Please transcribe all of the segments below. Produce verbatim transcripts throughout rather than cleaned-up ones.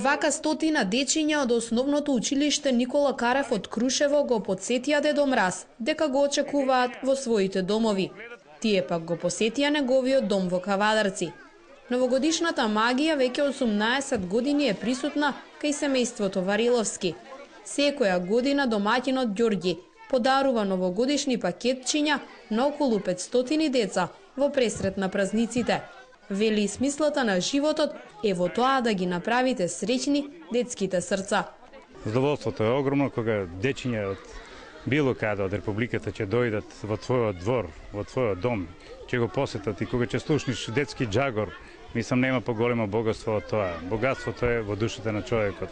Вака стотина дечиња од основното училиште Никола Карев од Крушево го потсетија Дедо Мраз дека го очекуваат во своите домови. Тие пак го посетија неговиот дом во Кавадарци. Новогодишната магија веќе осумнаесет години е присутна кај семејството Вариловски. Секоја година домаќинот Ѓорѓи подарува новогодишни пакетчиња на околу петстотини деца во пресрет на празниците. Вели, смислата на животот е во тоа да ги направите среќни детските срца. Задоволството е огромно кога дечиња од било каде од републиката ќе дојдат во твојот двор, во твојот дом, ќе го посетат и кога ќе слушнеш детски джагор, мислам нема поголемо богатство од тоа. Богатството е во душата на човекот.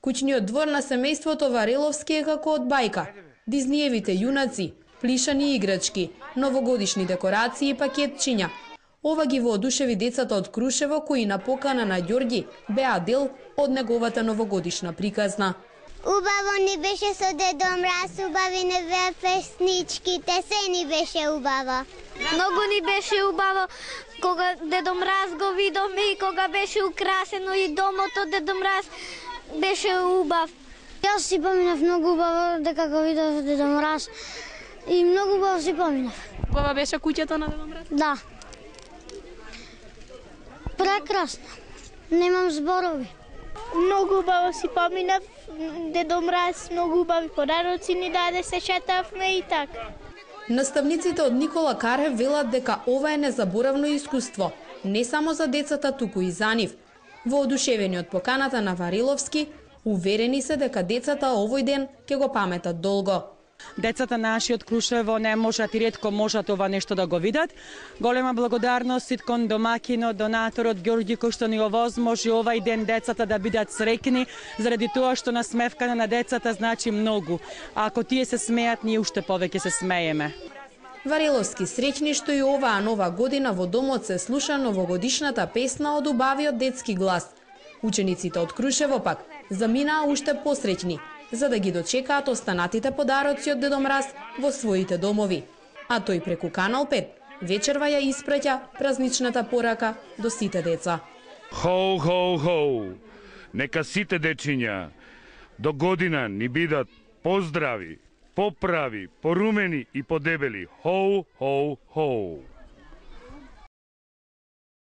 Куќниот двор на семејството Вариловски е како од бајка. Дизниевите јунаци, плишани играчки, новогодишни декорации и пакетчиња. Ова ги воодушеви децата од Крушево кои на покана на Ѓорѓи беа дел од неговата новогодишна приказна. Убаво ни беше со Дедо Мраз, убави не беа песничките, се ни беше убаво. Многу ни беше убаво кога Дедо Мраз го видовме и кога беше украсено и домот од Дедо Мраз беше убав. Јас си поминав многу убаво дека го видов Дедо Мраз и многу убаво си поминав. Убава беше куќето на Дедо Мраз? Да. Прекрасно. Немам зборови. Многу убаво си поминав, Дедо Мраз, многу убави подароци ни даде, се шетавме и така. Наставниците од Никола Карев велат дека ова е незаборавно искуство, не само за децата, туку и за нив. Воодушевени од поканата на Вариловски, уверени се дека децата овој ден ќе го паметат долго. Децата наши од Крушево не можат и ретко можат ова нешто да го видат. Голема благодарност кон домакинот, донаторот Ѓорѓи кој што ни овозможи овај ден децата да бидат среќни, заради тоа што насмевката на децата значи многу. А ако тие се смеат, ние уште повеќе се смееме. Вариловски среќни што и оваа нова година во домот се слуша новогодишната песна од убавиот детски глас. Учениците од Крушево пак заминаа уште посреќни, за да ги дочекаат останатите подароци од Дедо Мраз во своите домови. А тој преку Канал пет вечерва ја испраќа празничната порака до сите деца. Хоу, хоу, хоу! Нека сите дечиња до година ни бидат поздрави, поправи, порумени и подебели. Хоу, хоу, хоу!